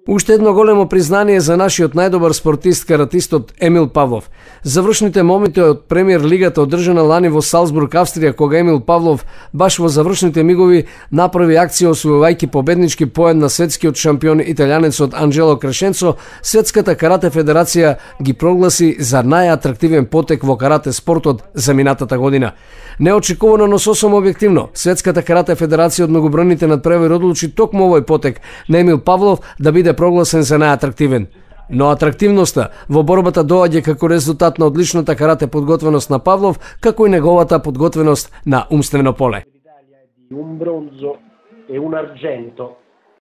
Уште едно големо признание за нашиот најдобар спортист, каратистот Емил Павлов. Завршните моменти од премиер лигата одржана лани во Салцбург, Австрија, кога Емил Павлов баш во завршните мигови направи акција освојувајќи победнички поен на светскиот шампион италијанецот Анџело Крешенцо, Светската карате федерација ги прогласи за најатрактивен потек во карате спортот за минатата година. Неочекувано, но сосем објективно, Светската карате федерација од многобројните надпревари одлучи токму овој потек на Емил Павлов да биде прогласен за најатрактивен. Но атрактивноста во борбата доаѓа како резултат на одличната карате подготвеност на Павлов, како и неговата подготвеност на умствено поле. Un bronzo e un argento